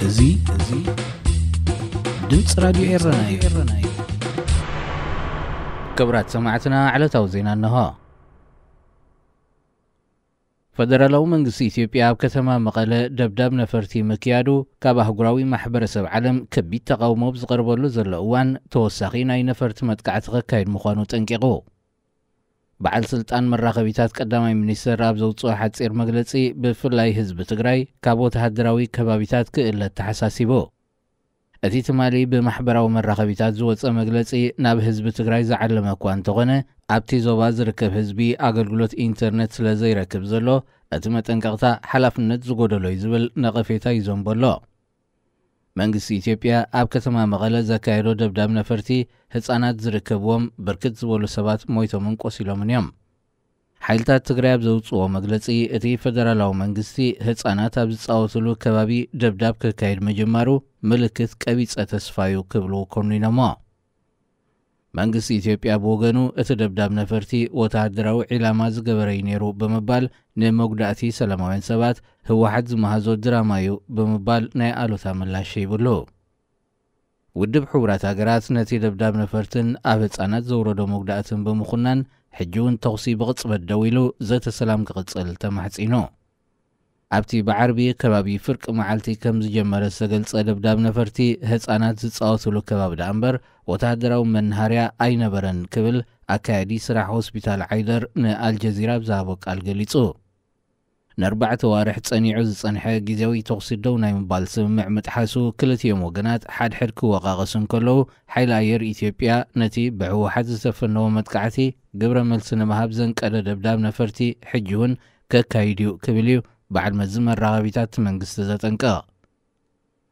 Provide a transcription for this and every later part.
እዚ፣ እዚ ድምፂ ራዲዮ ኤረና እዩ። ክቡራት ሰማዕትና፣ ዕለታዊ ዜና እንሆ። ፈደራላዊ መንግስቲ ኢትዮጵያ ኣብ ከተማ መቐለ ደብዳብ ነፈርቲ ምክያዱ፣ ካብ ኣህጉራዊ ማሕበረሰብ ዓለም ከቢድ ተቓውሞ ኣብ ዝቐርበሉ ዘሎ እዋን፣ ተወሳኺ ናይ ነፈርቲ መጥቃዕቲ ከካይድ ምዃኑ ጠንቂቑ። በዓል ስልጣን መራኸቢታት ቀዳማይ ሚኒስትር ኣብ ዘውፅኦ ሓፂር መግለፂ፣ ብፍላይ ህዝቢ ትግራይ ካብ ወተሃደራዊ ከባቢታት ክእለ ተሓሳሲቡ። እቲ ትማሊ ብማሕበራዊ መራኸቢታት ዝወፀ መግለፂ፣ ናብ ህዝቢ ትግራይ ዝዓለመ እኳ እንተኾነ፣ ኣብቲ ዞባ ዝርከብ ህዝቢ ኣገልግሎት ኢንተርኔት ስለ ዘይረክብ ዘሎ፣ እቲ መጠንቀቕታ ሓላፍነት ዝጎደሎ እዩ ዝብል ነቐፌታ ይዘንቦ ኣሎ። መንግስቲ ኢትዮጵያ ኣብ ከተማ መቐለ ዘካየዶ ደብዳብ ነፈርቲ፣ ህፃናት ዝርከብዎም ብርክት ዝበሉ ሰባት ሞይቶምን ቆሲሎምን እዮም። ሓይልታት ትግራይ ኣብ ዘውፅዎ መግለፂ፣ እቲ ፈደራላዊ መንግስቲ ህፃናት ኣብ ዝፃወትሉ ከባቢ ደብዳብ ከካይድ ምጅማሩ ምልክት ቀቢፀ ተስፋ እዩ ክብሉ ኮኒኖሞ። መንግስቲ ኢትዮጵያ ብወገኑ፣ እቲ ደብዳብ ነፈርቲ ወተሃደራዊ ዒላማ ዝገበረ እዩ ነይሩ ብምባል፣ ንመጉዳእቲ ሰላማውያን ሰባት ህወሓት ዝመሃዞ ድራማ እዩ ብምባል ናይ ኣሉታ ምላሽ ሂብሉ። ውድብ ሕቡራት ሃገራት ነቲ ደብዳብ ነፈርትን ኣብ ህጻናት ዘውረዶ መጉዳእትን ብምኹናን፣ ሕጂ እውን ተኹሲ ብቕጽበት ደው ኢሉ ዘተ ሰላም ክቕጽል ተማሕጺኑ። ኣብቲ ብዓርቢ ከባቢ ፍርቂ መዓልቲ ከም ዝጀመረ ዝተገልጸ ደብዳብ ነፈርቲ፣ ህጻናት ዝጻወቱሉ ከባቢ ደኣ እምበር ወተሃደራዊ መናሃርያ ኣይነበረን ክብል ኣካያዲ ስራሕ ሆስፒታል ዓይደር ንኣልጀዚራ ኣብ ዝሃቦ ቃል ገሊጹ። ንኣርባዕተ ዋርሕ ጸኒዑ ዝጸንሐ ግዜያዊ ተኹሲ ደው ናይ ምባል ስምምዕ ምጥሓሱ ክልቲኦም ወገናት ሓድሕድ ክወቃቐሱ እንከለዉ፣ ሓይሊ ኣየር ኢትዮጵያ ነቲ ብህወሓት ዝተፈነወ መጥቃዕቲ ግብረ መልሲ ንምሃብ ዘንቀደ ደብዳብ ነፈርቲ ሕጂ እውን ከካይድ እዩ ክብል እዩ በዓል መዚ መራኸቢታት መንግስቲ ዘጠንቅቕ።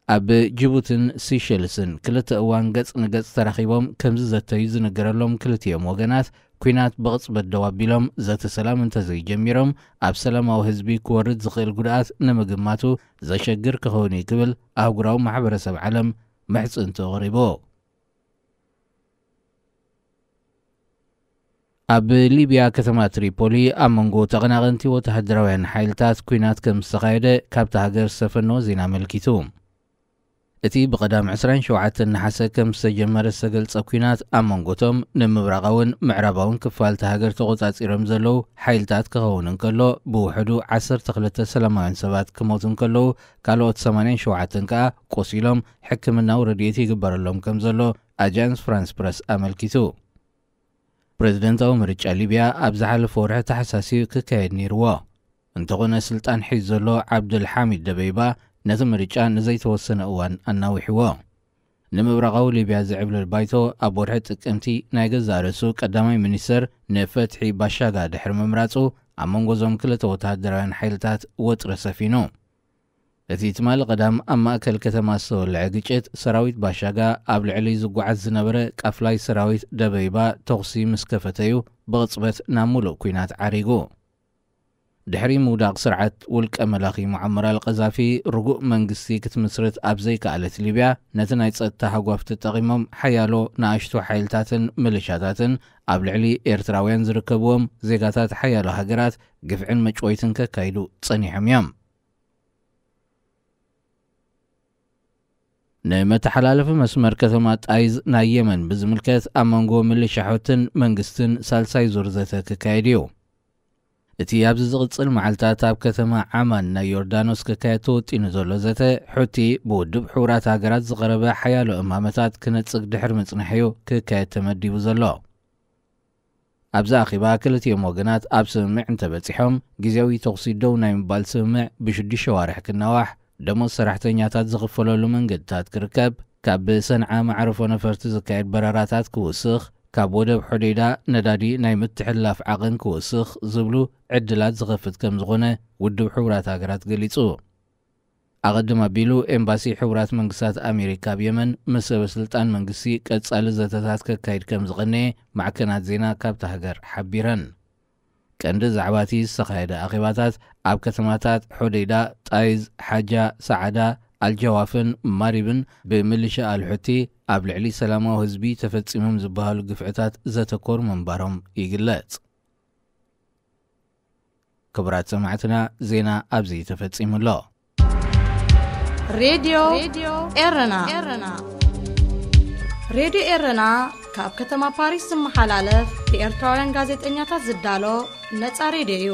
ኣብ ጅቡትን ሲሸልስን ክልተ እዋን ገጽ ንገጽ ተራኺቦም ከም ዝዘተዩ ዝንገረሎም ክልቲኦም ወገናት፣ ኲናት ብቕጽበት ደው ኣቢሎም ዘተ ሰላም እንተዘይጀሚሮም፣ ኣብ ሰላማዊ ህዝቢ ክወርድ ዝኽእል ጉድኣት ንምግማቱ ዘሸግር ክኸውን እዩ ክብል ኣህጉራዊ ማሕበረሰብ ዓለም ምሕጽንቱ ኣቕሪቡ። ኣብ ሊብያ ከተማ ትሪፖሊ ኣብ መንጎ ተቐናቐንቲ ወተሃደራውያን ሓይልታት ኲናት ከም ዝተኻየደ ካብታ ሃገር ዝተፈነወ ዜና ኣመልኪቱ። እቲ ብቐዳም ዕስራን ሸውዓተን ነሓሰ ከም ዝተጀመረ ዝተገልጸ ኲናት ኣብ መንጎቶም ንምብራቓውን ምዕራባውን ክፋል እታ ሃገር ተቖጻጺሮም ዘለዉ ሓይልታት ክኸውን እንከሎ፣ ብውሕዱ ዓሰርተ ክልተ ሰላማውያን ሰባት ክሞቱ እንከለዉ፣ ካልኦት ሰማንያን ሸውዓተን ከኣ ቆሲሎም ሕክምናዊ ረድኤት ይግበረሎም ከም ዘሎ ኣጃንስ ፍራንስ ፕረስ ኣመልኪቱ። ፕረዚደንታዊ ምርጫ ሊብያ ኣብ ዝሓለፈ ወርሒ ታሕሳስ እዩ ክካየድ ነይርዎ። እንተኾነ፣ ስልጣን ሒዙ ዘሎ ዓብዱል ሓሚድ ደበይባ ነቲ ምርጫ ንዘይተወሰነ እዋን ኣናዊሕዎ። ንምብራቓዊ ሊብያ ዝዕብልል ባይቶ ኣብ ወርሒ ጥቅምቲ ናይ ገዛእ ርእሱ ቀዳማይ ሚኒስተር ንፈትሒ ባሻጋ ድሕሪ ምምራጹ፣ ኣብ መንጎ እዞም ክልተ ወተሃደራውያን ሓይልታት ወጥሪ ሰፊኑ። እቲ ትማሊ ቀዳም ኣብ ማእከል ከተማ ዝተወልዐ ግጭት፣ ሰራዊት ባሻጋ ኣብ ልዕሊ ዝጓዓዝ ዝነበረ ቃፍላይ ሰራዊት ደበይባ ተኹሲ ምስ ከፈተ'ዩ ብቕጽበት ናብ ምሉእ ኲናት ዓሪጉ። ድሕሪ ምውዳቕ ስርዓት ውልቀ መላኺ ሙዓመር ኣልቀዛፊ፣ ርጉእ መንግስቲ ክትምስርት ኣብ ዘይከኣለት ሊብያ፣ ነቲ ናይ ጸጥታ ሃጓፍ ተጠቒሞም ሓያሎ ንኣሽቱ ሓይልታትን ሚሊሻታትን ኣብ ልዕሊ ኤርትራውያን ዝርከብዎም ዜጋታት ሓያሎ ሃገራት ግፍዕን መጭወይትን ከካይዱ ጸኒሖም እዮም። ንመተሓላለፊ መስመር ከተማ ጣይዝ ናይ የመን ብዝምልከት፣ ኣብ መንጎ ሚሊሻ ሑትን መንግስትን ሳልሳይ ዙር ዘተ ክካየድ እዩ። እቲ ኣብዚ ዝቕጽል መዓልታት ኣብ ከተማ ዓማን ናይ ዮርዳኖስ ክካየድ ተወጢኑ ዘሎ ዘተ፣ ሑቲ ብውድብ ሕቡራት ሃገራት ዝቐረበ ሓያሎ እማመታት ክነጽግ ድሕሪ ምጽናሕ እዩ ክካየድ ተመዲቡ ዘሎ። ኣብዚ ኣኼባ ክልቲኦም ወገናት ኣብ ስምምዕ እንተበጺሖም፣ ግዜያዊ ተኹሲ ደው ናይ ምባል ስምምዕ ብሽዱሽተ ዋርሕ ክናዋሕ፣ ደሞዝ ሰራሕተኛታት ዝኽፈለሉ መንገድታት ክርከብ፣ ካብ ሰንዓ መዕርፎ ነፈርቲ ዝካየድ በረራታት ክውስኽ፣ ካብ ወደብ ሖዴይዳ ነዳዲ ናይ ምትሕልላፍ ዓቐን ክውስኽ ዝብሉ ዕድላት ዝኸፍት ከም ዝኾነ ውድብ ሕቡራት ሃገራት ገሊጹ። ኣቐድም ኣቢሉ፣ ኤምባሲ ሕቡራት መንግስታት ኣሜሪካ ኣብ የመን ምስ ሰበ ስልጣን መንግስቲ ቀጻሊ ዘተታት ከካይድ ከም ዝቐነየ ማዕከናት ዜና ካብታ ሃገር ሓቢረን። ቀንዲ ዛዕባ እቲ ዝተኻየደ ኣኼባታት፣ ኣብ ከተማታት ሖዴይዳ፣ ጣይዝ፣ ሓጃ፣ ሰዓዳ፣ ኣልጀዋፍን ማሪብን ብሚሊሻ ኣልሑቲ ኣብ ልዕሊ ሰላማዊ ህዝቢ ተፈጺሞም ዝበሃሉ ግፍዕታት ዘተኮሩ ምንባሮም ይግለጽ። ክቡራት ሰማዕትና፣ ዜና ኣብዚ ተፈጺሙ ኣሎ። ሬድዮ ኤረና። ሬድዮ ኤረና ካብ ከተማ ፓሪስ ዝመሓላለፍ ብኤርትራውያን ጋዜጠኛታት ዝዳሎ ነጻ ሬድዮ እዩ።